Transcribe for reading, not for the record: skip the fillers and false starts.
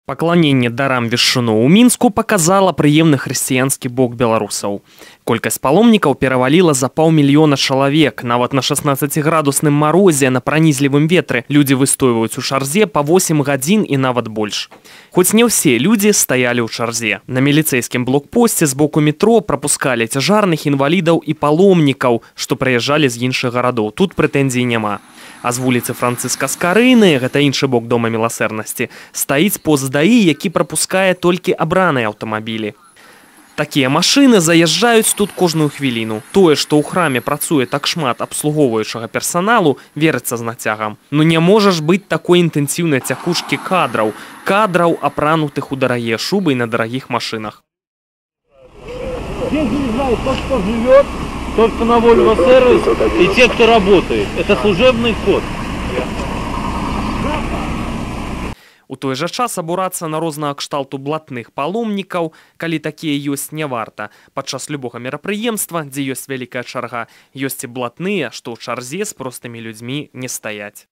Пакланенне дарам вешчуноў у Мінску показала прыемны хрысціянскі бок беларусаў. Колькасць паломнікаў пераваліла за 500 000 чалавек. Нават на 16-градусным марозе, на пранізлівым ветры людзі выстойваюць у чарзе па 8 гадзін і нават больш. Хоць не ўсе людзі стаялі ў чарзе. На міліцэйскім блокпосце з боку метро прапускалі цяжарных інвалідаў і паломнікаў, што прыязджалі з іншых гарадоў. Тут прэтэнзій няма. А з вуліцы Францыска Скарыны, гэта іншы бок дома міласэрнасці, стаіць пост ДАІ, які прапускае толькі абраныя аўтамабілі. Такія машыны заязджаюць тут кожную хвіліну. Тое, што ў храме працуе так шмат абслугоўваючага персаналу, верыцца з нацягам. Ну не можа ж быць такой інтэнсіўнай цякушкі кадраў, апранутых у дарагія шубы і на дарагіх машынах. Здесь не знаю, кто живет, только на Volvo сервис и те, кто работает. Это служебный вход. У той жа час абурацца на рознага кшталту блатных паломнікаў, калі такія ёсць, не варта. Падчас любога мерапрыемства, дзе ёсць вялікая чарга, ёсць і блатныя, што ў чарзе з простымі людзьмі не стаяць.